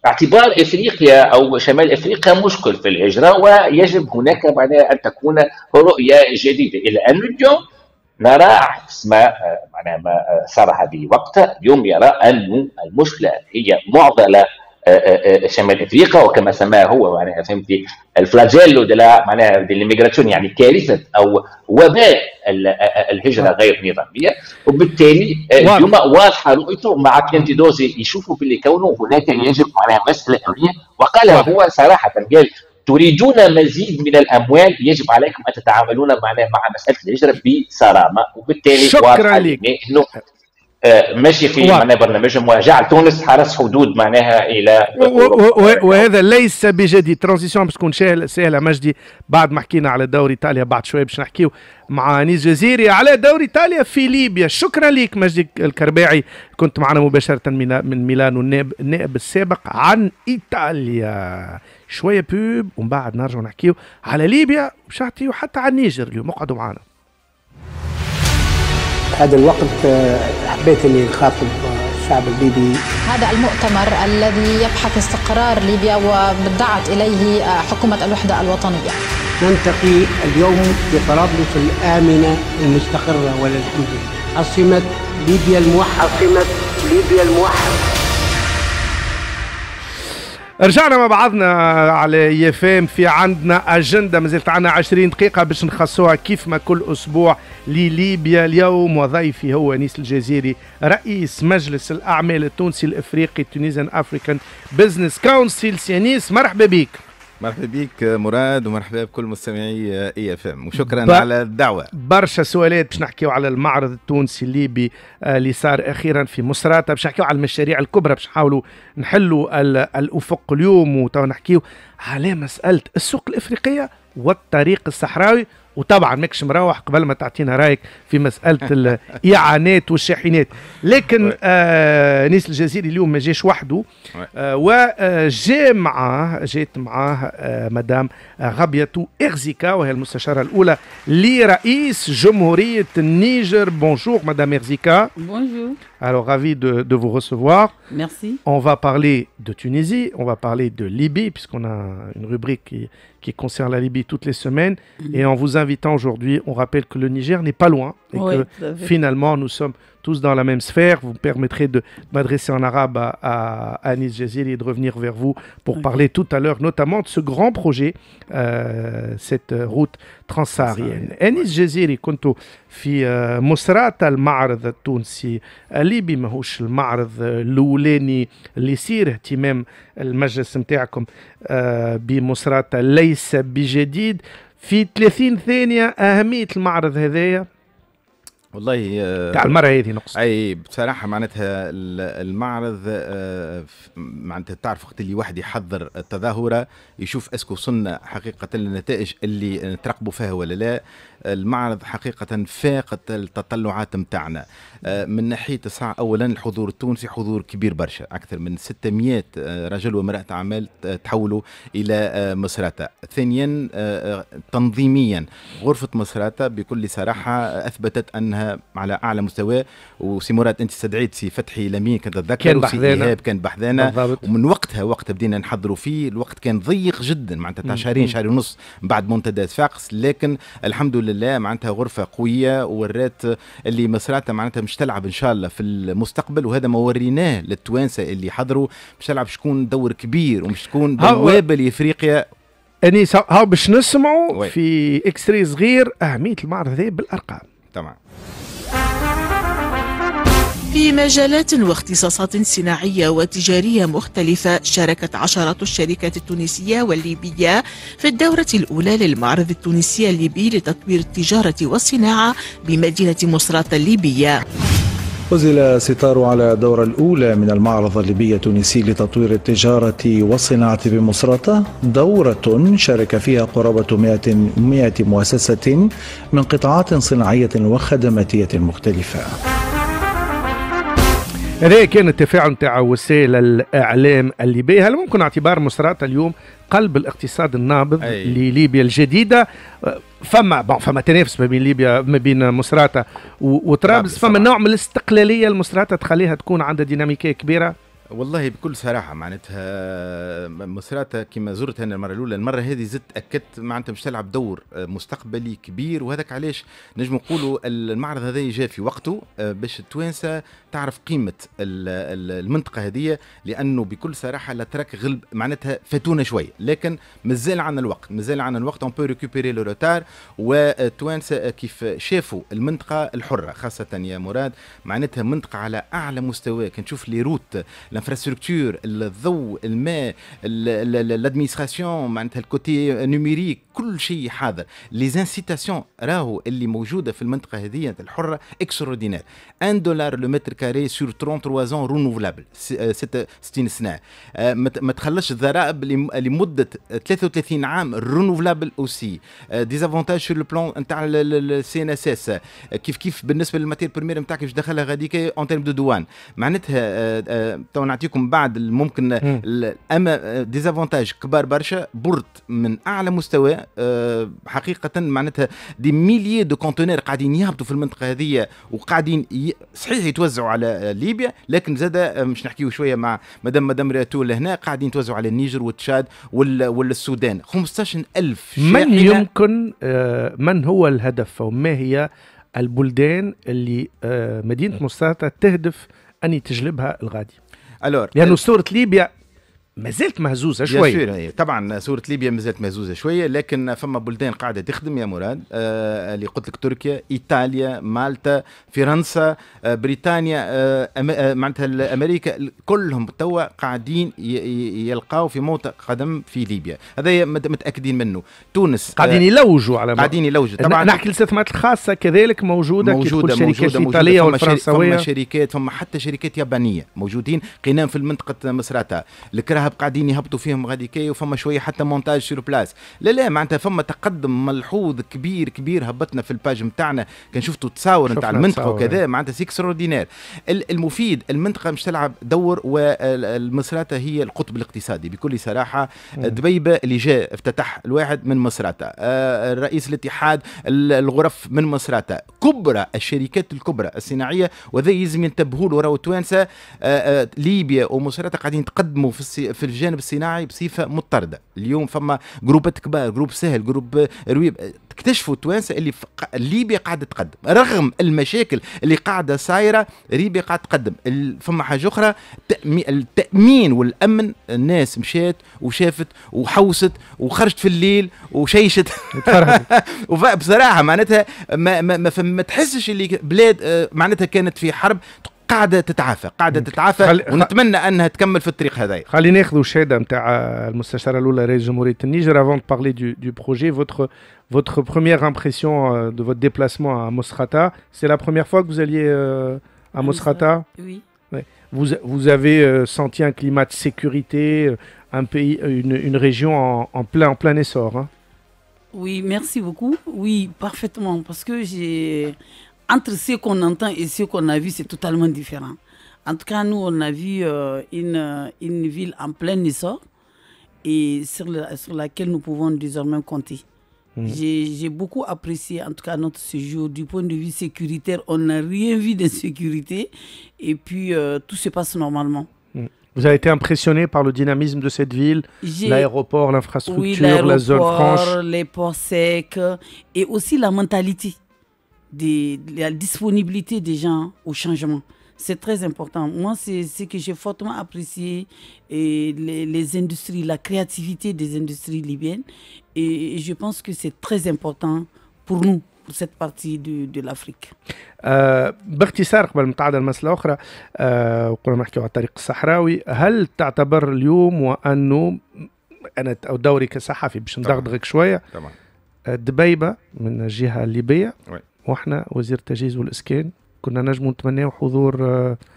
اعتبار افريقيا او شمال افريقيا مشكل في الهجرة، ويجب هناك معناها ان تكون رؤية جديدة. الى ان اليوم نرى عكس ما معناها ما صرح به وقتها، اليوم يرى أن المشكلة هي معضلة شمال افريقيا، وكما سماه هو معناها فهمتي ال flagello de la معناها dell'immigrazione، يعني كارثة او وباء الهجرة غير النظامية، وبالتالي اليوم واضحة رؤيته مع بيانتيدوزي يشوفوا باللي كونه هناك يجب معناها مسالة امنية، وقالها هو صراحة، قال تريدون مزيد من الاموال يجب عليكم ان تتعاملون معناها مع مسالة الهجرة بصرامه، وبالتالي شكرا لك انه ماشي في معناها برنامجهم وجعل تونس حرس حدود معناها الى وهذا ليس بجديد. transition باش تكون سهلة مجدي، بعد ما حكينا على دوري ايطاليا بعد شوية باش نحكيو مع انيس جزيري على دوري ايطاليا في ليبيا. شكرا لك مجدي الكرباعي، كنت معنا مباشرة من ميلانو، النائب السابق عن ايطاليا. شوية pub ومن بعد نرجع نحكيو على ليبيا وباش نحكيو حتى على النيجر اليوم، اقعدوا معنا. هذا الوقت حبيت اني نخاطب الشعب الليبي. هذا المؤتمر الذي يبحث استقرار ليبيا ودعت اليه حكومة الوحدة الوطنية. نلتقي اليوم بطرابلس الامنة المستقره وللحمد لله، عاصمة ليبيا الموحدة. عاصمة ليبيا الموحدة. رجعنا مع بعضنا على IFM، في عندنا اجندة مازالت عندنا 20 دقيقة باش نخصوها كيف ما كل اسبوع لليبيا اليوم، وضيفي هو انيس الجزيري رئيس مجلس الاعمال التونسي الافريقي Tunisian African Business Council. سي انيس مرحبا بك. مرحبا بك مراد، ومرحبا بكل مستمعي IFM، وشكرا على الدعوة. برشا سؤالات باش نحكيو على المعرض التونسي الليبي اللي صار اخيرا في مصراتة، باش نحكيو على المشاريع الكبرى باش نحاولوا نحلوا الافق اليوم، وتو نحكيو على مسالة السوق الافريقية والطريق الصحراوي، وطبعا ماكش مروح قبل ما تعطينا رايك في مسالة الاعانات والشاحنات. لكن انيس الجزيري اليوم ما جاش وحده، وجاء معاه جات معاه مدام غابياتو إرزيكا، وهي المستشارة الاولى لرئيس جمهورية النيجر. Bonjour madame Erzika. Bonjour. Alors ravi de vous recevoir. Merci. On va parler de Tunisie, on va parler de Libye, puisqu'on a une rubrique qui concerne la Libye toutes les semaines. Et en vous invitant aujourd'hui, on rappelle que le Niger n'est pas loin et oui, que finalement nous sommes tous dans la même sphère. Vous me permettrez de m'adresser en arabe à Anis Jaziri et de revenir vers vous pour parler tout à l'heure notamment de ce grand projet, cette route transsaharienne. Anis Jaziri, كنت في مصراتة المعرض التونسي الليبي، ماهوش المعرض الأولاني اللي يصير، اهتمام المجلس نتاعكم بمصراتة ليس بجديد. في 30 ثانية أهمية المعرض هذايا؟ والله تاع المرة هذه نقصد. أي بصراحة معناتها المعرض معناتها تعرف وقت اللي واحد يحضر التظاهرة يشوف est-ce que وصلنا حقيقة للنتائج اللي نترقبوا فيها ولا لا. المعرض حقيقة فاقت التطلعات متاعنا من ناحية الساعة. أولا الحضور التونسي حضور كبير برشا، أكثر من 600 رجل وامرأة أعمال تحولوا إلى مصراتة. ثانيا تنظيميا غرفة مصراتة بكل صراحة أثبتت أنها حضرناها على اعلى مستوى. وسي مراد، انت استدعيت سي فتحي لمين كنت تتذكر، كان وسي بحذانا. ايهاب كان بحذانا. ومن وقتها وقت بدينا نحضروا فيه، الوقت كان ضيق جدا، معناتها تاع شهرين، شهر ونص بعد منتدى صفاقس، لكن الحمد لله معناتها غرفة قوية وورات اللي مصراتة معناتها مش تلعب ان شاء الله في المستقبل، وهذا ما وريناه للتوانسه اللي حضروا، مش تلعب شكون دور كبير ومش تكون بوابه لافريقيا. اني هاو باش نسمعوا في extrait صغير اهمية المعرض هذا بالارقام. طبعا. في مجالات واختصاصات صناعية وتجارية مختلفة، شاركت عشرات الشركات التونسية والليبية في الدورة الأولى للمعرض التونسي الليبي لتطوير التجارة والصناعة بمدينة مصراتة الليبية. أسدل الستار على الدورة الأولى من المعرض الليبي التونسي لتطوير التجارة والصناعة بمصراتة، دورة شارك فيها قرابة 100 مؤسسة من قطاعات صناعية وخدماتية مختلفة. هذا كان التفاعل نتاع وسائل الاعلام الليبيه. هل ممكن اعتبار مصراتة اليوم قلب الاقتصاد النابض لليبيا الجديده؟ فما bon فما تنافس ما بين ليبيا، ما بين مصراتة وطرابلس، فما نوع من الاستقلالية المصراتة تخليها تكون عندها ديناميكية كبيره. والله بكل صراحة، معناتها مصراتة كما زرتها أنا المرة الأولى، المرة هذه زدت أكدت معناتها مش تلعب دور مستقبلي كبير، وهذاك علاش نجم نقولوا المعرض هذا جاء في وقته باش التوانسة تعرف قيمة المنطقة هذه، لأنه بكل صراحة الأتراك غلب معناتها فاتونا شوي، لكن مازال عندنا الوقت، مازال عندنا الوقت، on peut récupérer le retard. والتوانسة كيف شافوا المنطقة الحرة خاصة يا مراد، معناتها منطقة على أعلى مستوى، كان تشوف les routes، l'infrastructure، الضوء، الماء، l'administration، معناتها ال côté numérique، كل شيء حاضر. les incitations راهو اللي موجودة في المنطقة هذه الحرة extraordinaires، 1 dollar le mètre carré sur 33 ans renouvelable، 60 سنه، ما تخلصش الضرائب لمدة 33 عام renouvelable، aussi des avantages sur le plan نتاع ال CNSS، كيف كيف بالنسبة لل matière première نتاعك باش تدخلها غاديك en termes de douane. معناتها تو نعطيكم بعد ممكن، اما des avantages كبار برشا، port من اعلى مستوى حقيقه، معناتها des milliers de conteneurs قاعدين يهبطوا في المنطقة هذه وقاعدين صحيح يتوزعوا على ليبيا، لكن زاد مش نحكيو شوية مع مدام راتو لهنا، قاعدين يتوزعوا على النيجر والتشاد والسودان، 15000. من يمكن من هو الهدف وما هي البلدان اللي مدينة مصراتة تهدف ان تجلبها الغادي؟ alors لانه صوره ليبيا ما زالت مهزوزة شويه. طبعا صوره ليبيا ما زالت مهزوزة شويه، لكن فما بلدان قاعدة تخدم يا مراد، اللي قلت لك تركيا، ايطاليا، مالطا، فرنسا، بريطانيا، معناتها امريكا، كلهم توا قاعدين يلقاو في موطئ قدم في ليبيا، هذا متاكدين منه. تونس قاعدين يلوجوا على قاعدين يلوجوا. طبعا نحكي الاستثمارات الخاصة كذلك موجوده، موجوده الشركات الايطالية والفرنسويه، فما شركات، فما حتى شركات يابانية موجودين قنام في المنطقة مصراتة، الكراهب قاعدين يهبطوا فيهم غاديكي، وفما شوية حتى montage sur place. لا لا، معناتها فما تقدم ملحوظ كبير كبير. هبطنا في ال page نتاعنا كان شفتوا تصاور نتاع المنطقة وكذا، معناتها c'est extraordinaire. المفيد المنطقة مش تلعب دور، والمصراتة هي القطب الاقتصادي بكل صراحه. دبيبه اللي جاء افتتح الواحد من مصراتة، الرئيس الاتحاد الغرف من مصراتة، كبرى الشركات الكبرى الصناعيه، وذا يلزم ينتبهوا له راهو التوانسه. ليبيا ومصراتة قاعدين يتقدموا في الجانب الصناعي بصفة مضطرده. اليوم فما groupes كبار، groupe سهل، groupe رويب، اكتشفوا التوانسة اللي ليبيا قاعدة تقدم رغم المشاكل اللي قاعدة صايره، ليبيا قاعدة تقدم. فما حاجة اخرى، التامين والامن، الناس مشات وشافت وحوست وخرجت في الليل وشيشت، بصراحة معناتها ما تحسش اللي بلاد معناتها كانت في حرب، قاعدة تتعافى، قاعدة تتعافى، ونتمنى انها تكمل في الطريق هذا. خلينا ناخذوا الشهادة نتاع المستشارة الاولى رئيس جمهورية النيجر. avant de parler du projet، votre première impression de votre déplacement à Mosrata، c'est la première fois que vous alliez à Mosrata؟ Oui. Ouais. Vous avez senti un climat de sécurité, un pays, une région en plein essor. Hein. Oui, merci beaucoup. Oui, parfaitement. Parce que j'ai entre ce qu'on entend et ce qu'on a vu, c'est totalement différent. En tout cas, nous, on a vu une ville en plein essor et sur laquelle nous pouvons désormais compter. J'ai beaucoup apprécié en tout cas notre séjour du point de vue sécuritaire. On n'a rien vu d'insécurité et puis tout se passe normalement. Vous avez été impressionné par le dynamisme de cette ville, l'aéroport, l'infrastructure, oui, la zone franche, les ports secs et aussi la mentalité, la disponibilité des gens au changement. C'est très important. Moi, c'est ce que j'ai fortement apprécié, et les industries, la créativité des industries libyennes. Et je pense que c'est très important pour nous, pour cette partie de l'Afrique. باختصار قبل ما نتعدى المسألة أخرى، وقلنا نحكيو على الطريق الصحراوي، هل تعتبر اليوم وأنه أنا دوري كصحفي باش ندغدغك شوية، طبعا دبيبة من الجهة الليبية، واحنا وزير التجهيز والإسكان كنا نجموا نتمناو حضور،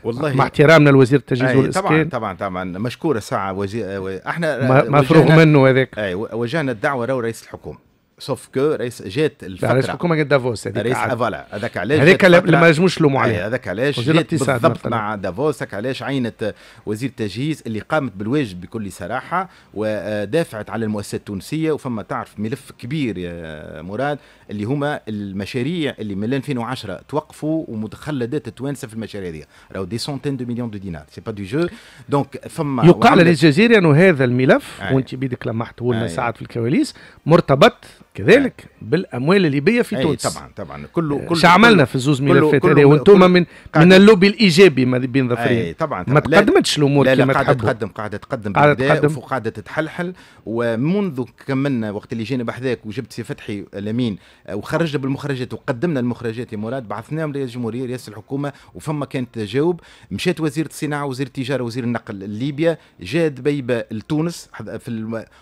والله مع احترامنا لوزير التجهيز والاسكان. طبعا طبعا طبعا، مشكورة ساعة وزير، احنا مفروغ منه هذاك. اي، وجهنا الدعوة راهو رئيس الحكومة، sauf que رئيس جات الفترة رئيس الحكومة قد دافوس. هذيك، رئيس voilà، هذاك علاش هذاك اللي ما نجموش نلوموا عليه. هذاك علاش جات بالضبط مع دافوس، هذاك علاش عينت وزير التجهيز اللي قامت بالواجب بكل صراحة ودافعت على المؤسسات التونسيه. وفما تعرف ملف كبير يا مراد، اللي هما المشاريع اللي من 2010 توقفوا ومتخلدات التوانسة في المشاريع هذه، راهو des centaines de millions de dinars، c'est pas du jeu. donc فما يقال للجزيرة انه هذا الملف، وانت بيدك لمحته لنا ساعات في الكواليس، مرتبط كذلك بالاموال الليبية في تونس. طبعا طبعا، كله كله عملنا في زوز ملفات هذه، وانتم من اللوبي الايجابي ما بين ظفرين. طبعا. ما تقدمتش الامور كما تحبوا. قاعدة تقدم، قاعدة تقدم، قاعدة تقدم وقاعدة تتحلحل. ومنذ كملنا وقت اللي جينا بحذاك وجبت سي فتحي الامين وخرجنا بالمخرجات وقدمنا المخرجات يا مراد، بعثناهم لرئاسة الجمهوريه، رئاسة الحكومه، وفما كانت تجاوب. مشات وزيره الصناعة، وزير التجاره، وزير النقل لليبيا، جاء دبيبه لتونس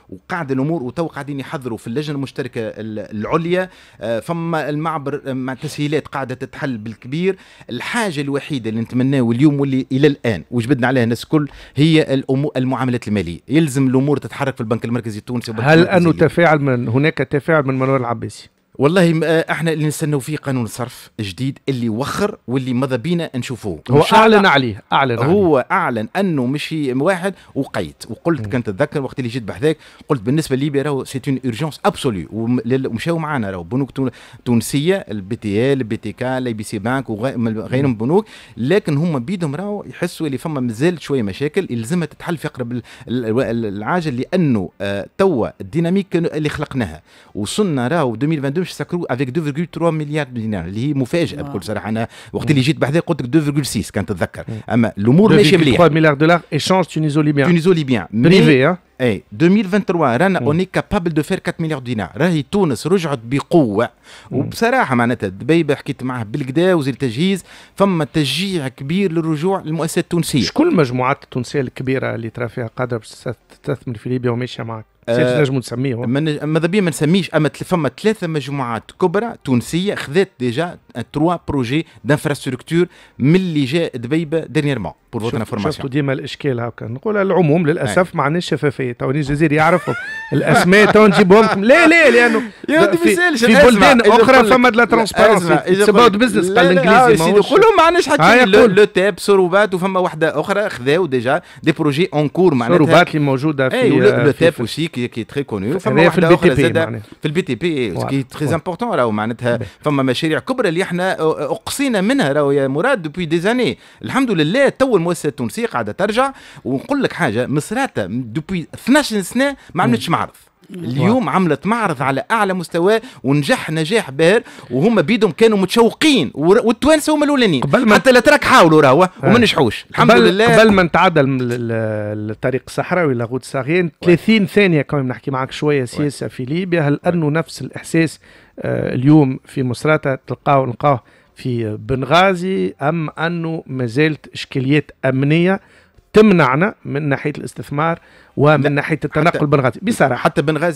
وقاعد الامور، وتو قاعدين يحضروا في اللجنة المشتركة العليا. فما المعبر مع تسهيلات قاعدة تتحل بالكبير. الحاجة الوحيدة اللي نتمناه اليوم واللي الى الان وجبدنا عليها الناس الكل هي الامور المعاملات المالية، يلزم الامور تتحرك في البنك المركزي التونسي. هل انه تفاعل من هناك تفاعل من منور العباسي؟ والله احنا اللي نستناو فيه قانون الصرف جديد اللي وخر واللي ماذا بينا نشوفوه. هو اعلن عليه، اعلن عليه. هو اعلن انه مشي واحد وقيت وقلت، كنت تتذكر وقت اللي جيت بحذاك قلت بالنسبة لليبيا راهو c'est une urgence absolue، ومشاو معنا راهو بنوك تونسيه، ال BTL، ال BTK، ال ABC Bank وغيرهم بنوك، لكن هما بيدهم راهو يحسوا اللي فما مازال شوية مشاكل يلزمها تتحل في اقرب العاجل، لانه توا ال dynamique اللي خلقناها وصلنا راهو 2022 باش نسكروا avec 2.3 مليار دينار، اللي هي مفاجاة بكل صراحه. انا وقت اللي جيت بحذا قلت لك 2.6 كان تتذكر، اما الامور ماشية مليح. 3 مليار دولار échange tuniso-libyen. tuniso-libyen privé. اي، 2023 رانا on est capable de faire 4 مليار دينار. راهي تونس رجعت بقوه، وبصراحة معناتها دبيبه حكيت معاه بالكدا وزير التجهيز، فما تشجيع كبير للرجوع للمؤسسات التونسيه. شكون المجموعات التونسية الكبيرة اللي ترى فيها قادرة باش تستثمر في ليبيا وماشية معك؟ نجموا نسميه؟ ماذا بيا ما نسميش، اما فما ثلاثة مجموعات كبرى تونسية خذت déjà trois projets d'infrastructure من اللي جاء دبيبه dernièrement، pour votre information. شفتوا ديما الاشكال هكا نقول العموم، للاسف ما عندناش شفافيه. تو الجزائر يعرفوا الاسماء تو نجيبهم لكم. لا لا، لانه في بلدان اخرى فما de la transparence، it's about business قال الانجليزي. قولهم ما عندناش حتى le TEP سوروبات، وفما واحدة اخرى خذاو déjà des projets en cours معناتها. سوروبات اللي موجودة في le TEP aussi qui est très connu. فما واحدة اخرى زاده في ال BTP qui est très important. راهو معناتها فما مشاريع كبرى اللي احنا اقصينا منها راهو يا مراد depuis des années. الحمد لله تو المؤسسة التونسية قاعدة ترجع. ونقول لك حاجه، مصراته depuis 12 سنة ما عملتش معرض، اليوم عملت معرض على اعلى مستوى ونجح نجاح باهر، وهم بيدهم كانوا متشوقين، والتوانسه هما الاولانيين، حتى الاتراك حاولوا راهو وما نجحوش، الحمد لله. قبل ما نتعدى الطريق الصحراوي la route saharienne، 30 ثانية كمان نحكي معك شوية سياسة في ليبيا. هل انه نفس الاحساس اليوم في مصراتة تلقاه نلقاه في بنغازي، ام انه ما زالت اشكاليات امنية تمنعنا من ناحية الاستثمار ومن ناحية التنقل بنغازي بصراحه؟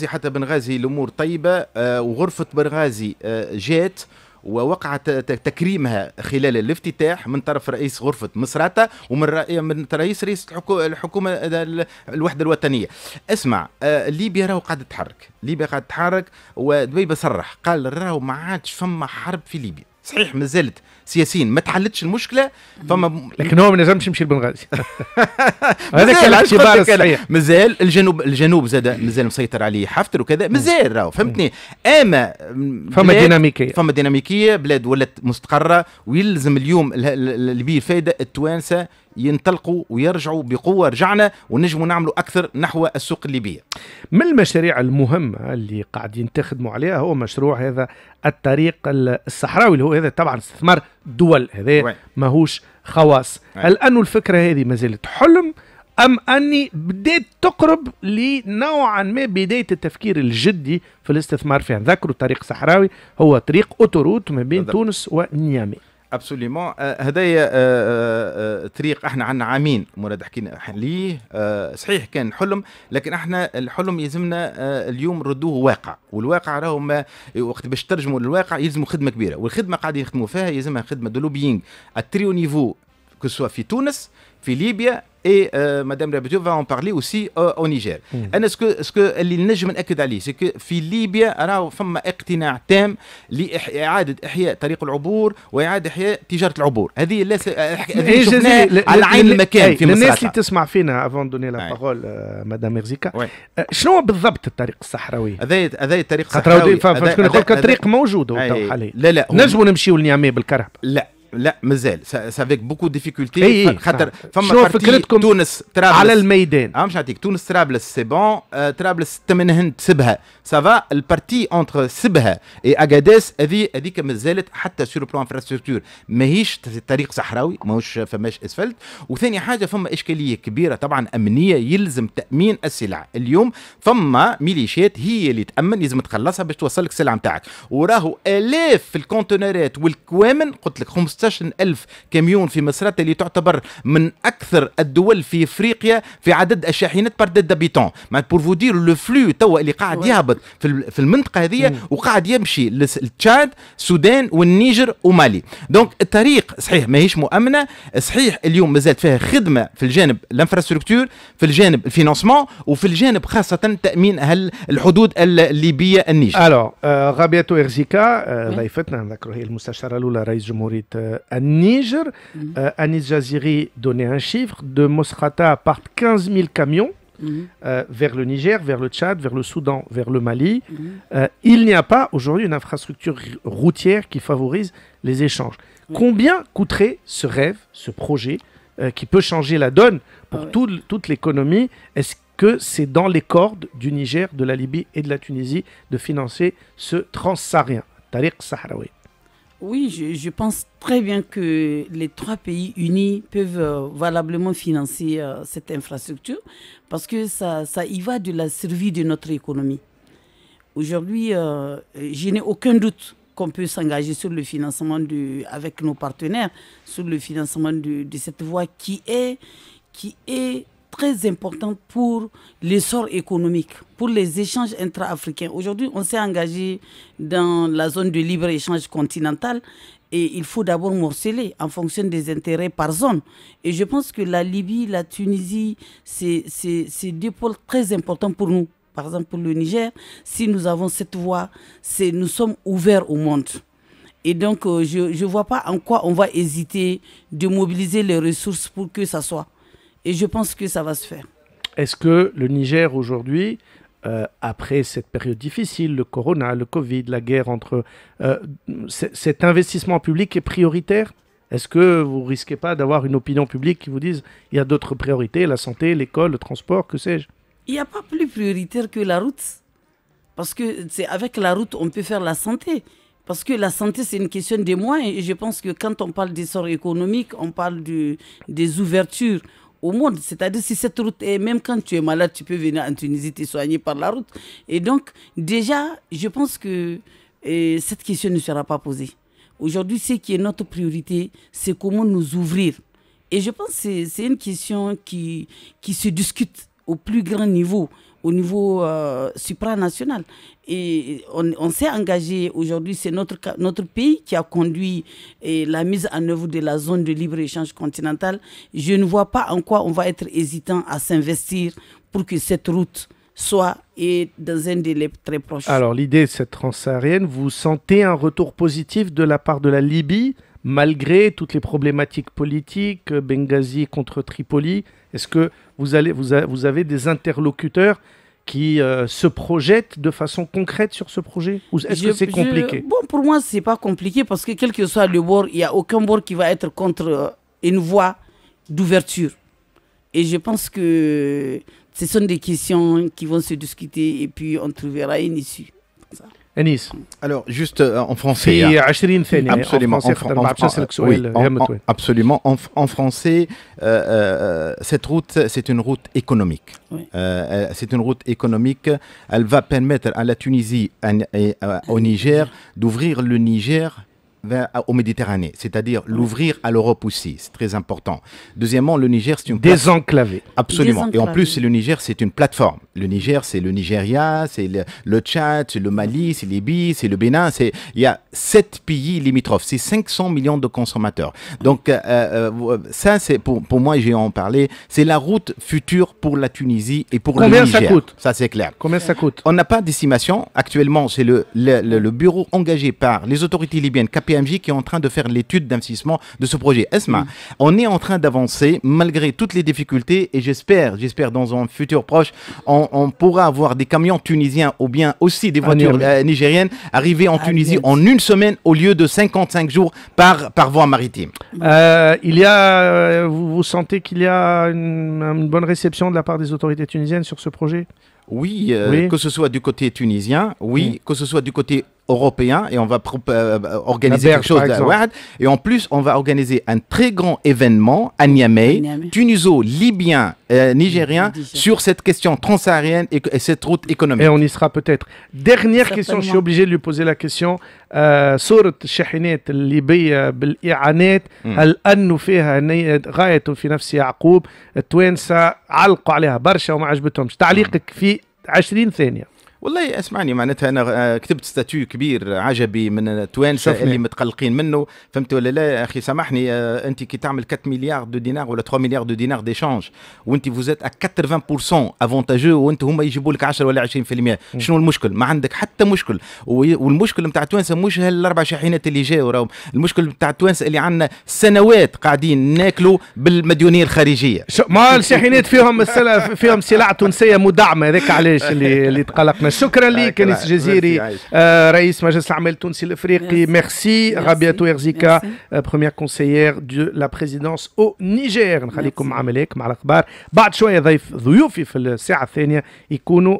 حتى بنغازي الامور طيبه، وغرفه بنغازي جات ووقعت تكريمها خلال الافتتاح من طرف رئيس غرفة مصراتة ومن رئيس الحكومة الوحدة الوطنية. اسمع، ليبيا راهو قاعدة تتحرك، ليبيا قاعدة تتحرك، ودبيبة صرح قال راهو ما عادش فما حرب في ليبيا. صحيح مازالت سياسيا ما تحلتش المشكله، فما لكن هو ما نجمش يمشي لبنغازي. هذاك الاعتبار الصحيح. مازال الجنوب زاد مازال مسيطر عليه حفتر وكذا، مازال راهو، فهمتني. اما فما ديناميكيه، فما ديناميكيه، بلاد ولات مستقره، ويلزم اليوم اللي بيه الفائده التوانسه ينطلقوا ويرجعوا بقوه. رجعنا ونجموا نعملوا اكثر نحو السوق الليبيه. من المشاريع المهمه اللي قاعدين تخدموا عليها هو مشروع هذا الطريق الصحراوي، اللي هو هذا طبعا استثمار دول، هذا ماهوش خواص. هل أن الفكرة هذه ما زالت حلم أم أني بدأت تقرب لنوعا ما بداية التفكير الجدي في الاستثمار فيها؟ نذكروا الطريق الصحراوي هو طريق autoroute ما بين تونس ونيامي. absolument، هذايا طريق احنا عندنا عامين مراد حكينا ليه. صحيح كان حلم، لكن احنا الحلم يلزمنا اليوم نردوه واقع، والواقع راهو ما وقت باش ترجموا للواقع يلزموا خدمه كبيره، والخدمه قاعدين يخدموا فيها يلزمها خدمه de lobbying à très haut niveau، que ce soit في تونس، في ليبيا، et madame Rabiatou va en parler aussi au Niger. انا ce que اللي نجم ناكد عليه c'est que في ليبيا راهو فما اقتناع تام لاعاده احياء طريق العبور واعاده احياء تجاره العبور. هذه لا هذه شفناها على عين المكان في مصر. الناس اللي تسمع فينا، avant donner la parole madame ميرزيكا، شنو بالضبط الطريق الصحراوي؟ هذا الطريق الصحراوي شكون يقول لك الطريق موجود هو حاليا؟ لا لا، نجموا نمشيو لنيامي بالكرهبة؟ لا لا، مازال ça avec beaucoup difficultés، خاطر فما شنو فكرتكم تونس طرابلس على الميدان؟ اه مش نعطيك تونس طرابلس c'est bon، طرابلس تمنهنت سبها ça va، ال partie entre سبها et اغاديس هذه هذيك مازالت حتى sur plan infrastructure ماهيش طريق صحراوي، ماهوش فماش اسفلت. وثاني حاجه فما اشكاليه كبيره طبعا امنيه، يلزم تامين السلع. اليوم فما ميليشيات هي اللي تامن، لازم تخلصها باش توصل لك السلعه نتاعك، وراهو الاف في الكونتينرات والكوامن، قلت لك 15 ألف كاميون في مصراتة اللي تعتبر من أكثر الدول في إفريقيا في عدد الشاحنات par tête d'habitant، pour vous dire le flux توا اللي قاعد يهبط في المنطقة هذه وقاعد يمشي للتشاد، السودان والنيجر ومالي. donc الطريق صحيح ماهيش مؤمنة، صحيح اليوم مازالت فيها خدمة في الجانب l'infrastructure، في الجانب ال financement، وفي الجانب خاصة تأمين الحدود الليبية النيجر. alors غابياتو إرزيكا ضيفتنا، نذكروا هي المستشارة الأولى رئيس جمهورية النيجر. Anis Jaziri donnait un chiffre: de Mosrata partent 15 000 camions vers le Niger, vers le Tchad, vers le Soudan, vers le Mali. Il n'y a pas aujourd'hui une infrastructure routière qui favorise les échanges. Combien coûterait ce rêve, ce projet qui peut changer la donne pour toute l'économie? Est-ce que c'est dans les cordes du Niger, de la Libye et de la Tunisie de financer ce transsaharien, الطريق الصحراوي? Oui, je pense très bien que les trois pays unis peuvent valablement financer cette infrastructure parce que ça y va de la survie de notre économie. Aujourd'hui, je n'ai aucun doute qu'on peut s'engager sur le financement avec nos partenaires, sur le financement de cette voie qui est très importante pour l'essor économique, pour les échanges intra-africains. Aujourd'hui, on s'est engagé dans la zone de libre-échange continentale et il faut d'abord morceler en fonction des intérêts par zone. Et je pense que la Libye, la Tunisie, c'est deux pôles très importants pour nous. Par exemple, pour le Niger, si nous avons cette voie, nous sommes ouverts au monde. Et donc, je ne vois pas en quoi on va hésiter de mobiliser les ressources pour que ça soit. Et je pense que ça va se faire. Est-ce que le Niger aujourd'hui, après cette période difficile, le corona, le Covid, la guerre entre... cet investissement public est prioritaire? Est-ce que vous risquez pas d'avoir une opinion publique qui vous dise il y a d'autres priorités, la santé, l'école, le transport, que sais-je? Il n'y a pas plus prioritaire que la route. Parce que c'est avec la route on peut faire la santé. Parce que la santé, c'est une question de moyens. Et je pense que quand on parle d'essor économique, on parle des ouvertures au monde. C'est-à-dire, si cette route est, même quand tu es malade, tu peux venir en Tunisie te soigner par la route. Et donc, déjà, je pense que cette question ne sera pas posée. Aujourd'hui, ce qui est notre priorité, c'est comment nous ouvrir. Et je pense que c'est une question qui se discute au plus grand niveau, au niveau supranational. Et on s'est engagé aujourd'hui, c'est notre pays qui a conduit la mise en œuvre de la zone de libre-échange continentale. Je ne vois pas en quoi on va être hésitant à s'investir pour que cette route soit et dans un délai très proche. Alors l'idée de cette transsaharienne, vous sentez un retour positif de la part de la Libye, malgré toutes les problématiques politiques, Benghazi contre Tripoli? Est-ce que vous avez des interlocuteurs qui se projettent de façon concrète sur ce projet? Ou est-ce que c'est compliqué? Bon, pour moi, ce n'est pas compliqué parce que quel que soit le bord, il n'y a aucun bord qui va être contre une voie d'ouverture. Et je pense que ce sont des questions qui vont se discuter et puis on trouvera une issue. Anis. Alors, juste en français. Absolument. Absolument. En français, cette route, c'est une route économique. Oui. C'est une route économique. Elle va permettre à la Tunisie et au Niger d'ouvrir le Niger au Méditerranée, c'est-à-dire l'ouvrir à l'Europe aussi, c'est très important. Deuxièmement, le Niger, c'est une désenclavé. Absolument. Désenclavé. Et en plus, le Niger, c'est une plateforme. Le Niger, c'est le Nigeria, c'est le Tchad, c'est le Mali, c'est Libye, c'est le Bénin. Il y a 7 pays limitrophes, c'est 500 millions de consommateurs. Donc, ça, c'est pour moi, j'ai en parlé, c'est la route future pour la Tunisie et pour le Niger. Combien ça coûte? Ça, c'est clair. Combien ça coûte? On n'a pas d'estimation. Actuellement, c'est le bureau engagé par les autorités libyennes, KPMG, qui est en train de faire l'étude d'investissement de ce projet. Esma, on est en train d'avancer malgré toutes les difficultés et j'espère dans un futur proche, on pourra avoir des camions tunisiens ou bien aussi des voitures nigériennes arriver en Tunisie en une semaine au lieu de 55 jours par voie maritime. Il y a, vous sentez qu'il y a une bonne réception de la part des autorités tunisiennes sur ce projet? Oui, que ce soit du côté tunisien, oui, que ce soit du côté européen, et on va organiser quelque chose. Et en plus, on va organiser un très grand événement à Niamey, tuniso-libyen, nigérien, sur cette question transsaharienne et cette route économique. Et on y sera peut-être. Dernière question, je suis obligé de lui poser la question. صورة الشاحنات الليبية بالإعانات، هل أنه فيها غاية في نفس يعقوب؟ التوانسة علقوا عليها برشا وما عجبتهمش. تعليقك في 20 ثانية. والله اسمعني، معناتها انا كتبت statut كبير عجبي من التوانسة اللي متقلقين منه، فهمت ولا لا؟ اخي سامحني، انت كي تعمل 4 milliards de dinars ولا 3 milliards de dinars d'échanges وانت vous êtes 80% avantageux وانت هما يجيبوا لك 10 ولا 20%، شنو المشكل؟ ما عندك حتى مشكل. والمشكل نتاع التوانسة مش هالاربع شاحنات اللي جاوا، راهم المشكل نتاع التوانسة اللي عندنا سنوات قاعدين ناكلوا بالمديونيه الخارجية. ما الشاحنات فيهم سلع تونسية مدعمه، هذاك علاش اللي تقلقنا. شكرا لك أنيس جزيري، رئيس مجلس الأعمال التونسي الإفريقي. Merci Rabiatou Erzika, première conseillère de la présidence au Niger. نخليكم مع ملاك مع الأخبار. بعد شوية ضيوفي في الساعة الثانية يكونوا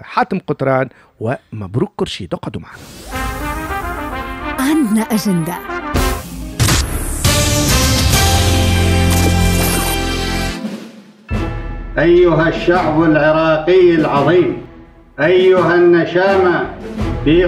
حاتم قطران ومبروك كرشيد. اقعدوا معنا. عندنا أجندة. أيها الشعب العراقي العظيم، أيها النشامى في